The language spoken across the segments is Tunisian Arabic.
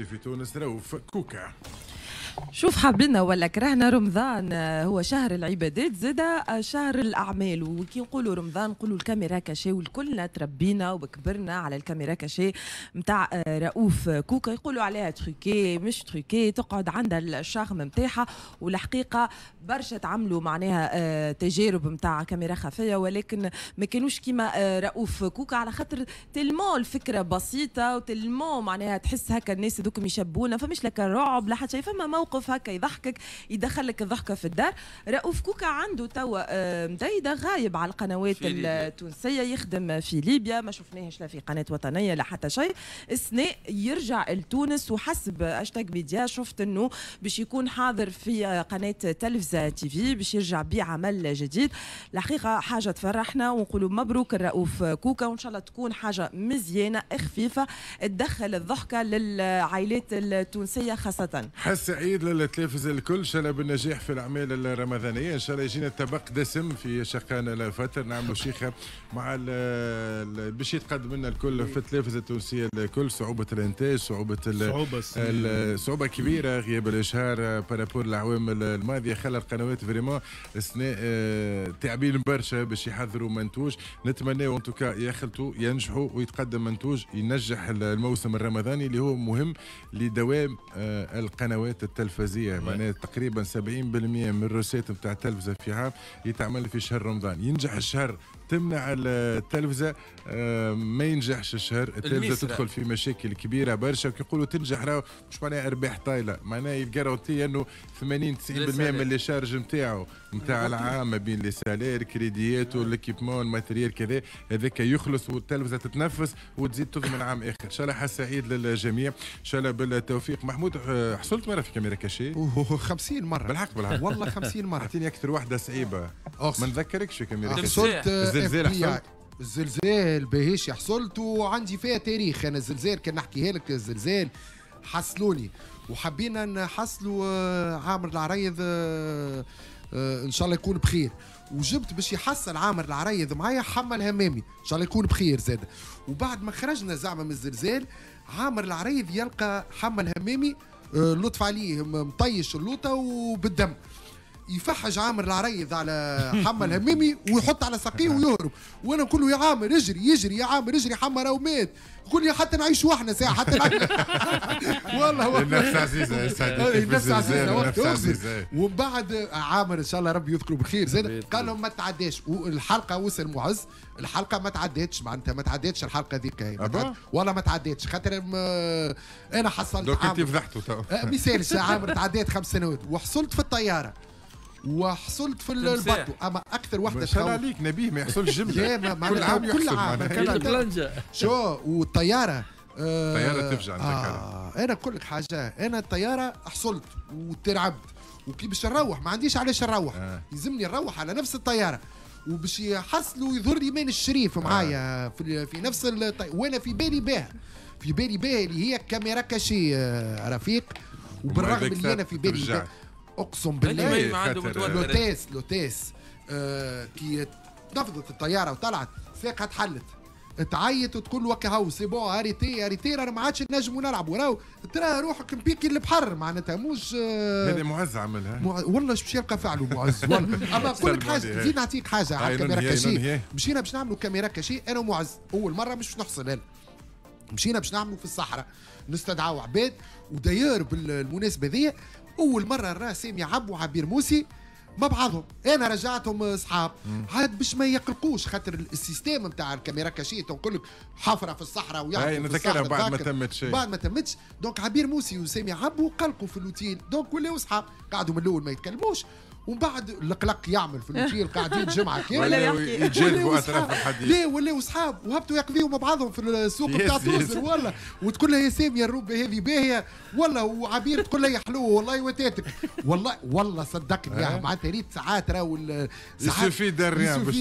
في تونس رؤوف كوكا. شوف، حبينا ولا كرهنا، رمضان هو شهر العبادات زادا شهر الأعمال. وكي نقولوا رمضان نقولوا ال caméra cachée، والكلنا تربينا وكبرنا على ال caméra cachée نتاع رؤوف كوكا. يقولوا عليها truquée مش truquée، تقعد عندها ال charme نتاعها. والحقيقة برشا تعملوا معناها تجارب نتاع كاميرا خفية، ولكن ما كانوش كيما رؤوف كوكا، على خاطر tellement الفكرة بسيطة و tellement معناها تحس هكا الناس هذوك يشبونا، فمش لك رعب لا حتى شيء، فما موقف هكا يضحكك، يدخلك الضحكة في الدار. رؤوف كوكا عنده توا مديدة غايب على القنوات التونسيه، يخدم في ليبيا، ما شفناهش لا في قناة وطنية لا حتى شيء. السنة يرجع لتونس، وحسب هاشتاج ميديا شفت انه باش يكون حاضر في قناة تلفزه تي في، باش يرجع بعمل جديد. الحقيقة حاجة تفرحنا ونقولوا مبروك الرؤوف كوكا، وان شاء الله تكون حاجة مزيانه خفيفة تدخل الضحكة للعائلات التونسية خاصه. حظ سعيد للتلفزه الكل، ان شاء الله بالنجاح في الاعمال الرمضانيه، ان شاء الله يجينا طبق دسم في شقان الفطر، نعملوا شيخه مع باش يتقدم لنا الكل في التلفزة التونسية الكل. صعوبة الانتاج، صعوبة صعوبة صعوبة كبيره، غياب الاشهار par rapport الأعوام الماضية خلى القنوات vraiment السنة تعبين برشا باش يحضروا منتوج. نتمناو en tout cas يخلطوا ينجحوا ويتقدم منتوج ينجح الموسم الرمضاني اللي هو مهم لدوام القنوات التلفزيه. معناها تقريبا 70% من ال recettes نتاع التلفزة في عام يتعمل في شهر رمضان. ينجح الشهر تمنع التلفزه، ما ينجحش الشهر التلفزة تدخل في مشاكل كبيرة برشا. وكي يقولوا تنجح راهو مش معناها ارباح طايله، معناها ي garanti انه 80 90% من les charges نتاعو نتاع العام ما بين les salaires، كريديات، وال équipement، ال matériel، كذا، هذاك يخلص والتلفزه تتنفس وتزيد تضمن عام اخر. ان شاء الله حظ سعيد للجميع، ان شاء الله بالتوفيق. محمود، حصلت مرة في caméra cachée؟ 50 مره. بالحق بالحق؟ والله 50 مره. اعطيني اكثر واحدة صعيبه، ما نذكركش في caméra cachée. حصلت. الزلزال حصلت؟ الزلزال باهيش حصلت، وعندي فيها تاريخ انا. الزلزال كان نحكيها لك، الزلزال حصلوني وحبينا نحصلوا عامر العريض، ان شاء الله يكون بخير، وجبت باش يحصل عامر العريض معايا حمى الهمامي، ان شاء الله يكون بخير زاد. وبعد ما خرجنا زعما من الزلزال، عامر العريض يلقى حمى الهمامي لطف عليه مطيش اللوطه وبالدم. يفحج عامر العريض على حمى الهمامي ويحط على ساقيه ويهرب، وانا نقول له يا عامر اجري، يجري، يا عامر اجري، حمى راهو مات. يقول لي حتى نعيش احنا ساعه، حتى نعيش. والله النفس عزيزه يا سعدي. النفس عزيزه، النفس عزيزه. ومن بعد عامر ان شاء الله ربي يذكره بالخير زاد قال لهم ما تعداش الحلقه. وصل معز، الحلقة ما تعدتش، معناتها ما تعدتش الحلقة ذيك والله ما تعدتش، خاطر انا حصلت. donc انت فضحته تو. ما يسالش عامر، تعديت 5 سنوات وحصلت في الطيارة وحصلت في ال bateau، اما اكثر وحده ما شاء الله عليك نبيه، ما يحصلش جمله. كل عام، كل عام. شو والطياره. الطيارة تفجع. انا نقول لك حاجه، انا الطيارة حصلت وترعبت، وكي باش نروح ما عنديش علاش نروح. يلزمني نروح على نفس الطياره، وباش يحصلوا يظهر لي مان الشريف معايا في نفس وانا في بالي بها، في بالي بها اللي هي caméra cachée رفيق. وبالرغم اللي انا في بالي، اقسم بالله l'hôtesse كي نفضت الطيارة وطلعت ساقها تحلت، تعيط وتقول وكهو c'est bon، arrêtez arrêtez، رانا ما عادش نجموا نلعبوا، راهو ترى روحك مبيكي البحر، معناتها مش هذا معز عملها. والله باش يلقى فعله معز والله. اما نقول لك حاجه، زيد نعطيك حاجة على ال caméra cachée. مشينا باش نعملوا caméra cachée انا ومعز، اول مرة مش باش نحصل انا، مشينا باش نعملوا في الصحراء، نستدعوا عباد. و d'ailleurs بالمناسبة ذي اول مرة نرى سامي عبو وعبير موسي مع بعضهم، انا رجعتهم اصحاب عاد باش ما يقلقوش، خاطر ال système نتاع ال caméra cachée تنقول لك حفره في الصحراء ويحفروا في الصحراء. بعد ما تمت شيء. بعد ما تمتش. donc عبير موسي وسامي عبو قلقوا في l'hôtel، donc ولاو اصحاب، قعدوا من الاول ما يتكلموش، ومن بعد القلق يعمل في l'hôtel، قاعدين جمعه كاملة. ولا يتجاذبوا اطراف الحديث. لا، ولاو اصحاب وهبطوا يقضيوا مع بعضهم في السوق بتاع توزر والله. وتقول لها يا سامية الروبه هذه باهيه والله، وعبير تقول لها يا حلوة والله وتاتك والله. والله صدقني يعني معناتها ريت ساعات راهو ساعات suffit de rien باش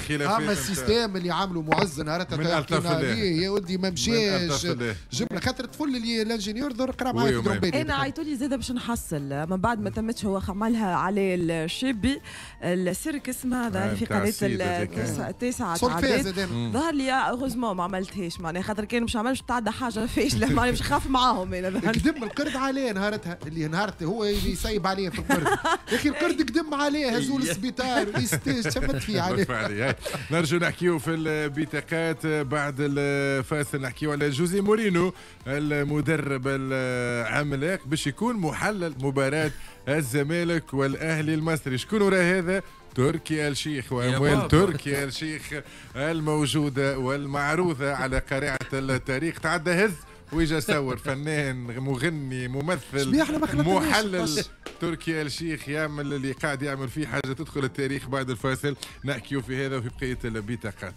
خلافات. اما ال système اللي عملوا معز نهارتها يا ولدي ما مشاش جبنا، خاطر الطفل اللي l'ingénieur در قرا معايا في. انا عيطوا لي زاده باش نحصل، من بعد ما تمتش، هو عملها على الشابي، السيرك اسمها، ظهر في نتاع قناة السيد هذاك. التاسعة صرت فيها تعدات. زاد أنا. ظهر لي heureusement ما عملتهاش، معناها خاطر كان مش عملش تعدى حاجة فاشله، معناها مش خاف معاهم انا ظهر لي. قدم القرد عليه نهارتها، اللي نهارت هو اللي يسيب عليه في القرد، يا اخي القرد قدم عليه، هزوه للسبيطار، شمت فيه عليه. لطف عليه. هاي. نرجو نحكيو في البطاقات بعد الفاصل، نحكيو على جوزي مورينو المدرب العملاق باش يكون محلل مباراة الزمالك والأهلي المصري. شكون وراء هذا؟ تركي الشيخ وأموال بابا. تركي الشيخ الموجودة والمعروضة على قارعة التاريخ. تعدى هز ويجا صور، فنان، مغني، ممثل، شبيه احنا ما خلطناش. محلل، تركي الشيخ يعمل اللي قاعد يعمل فيه حاجة تدخل التاريخ. بعد الفاصل نحكيو في هذا وفي بقية البطاقات.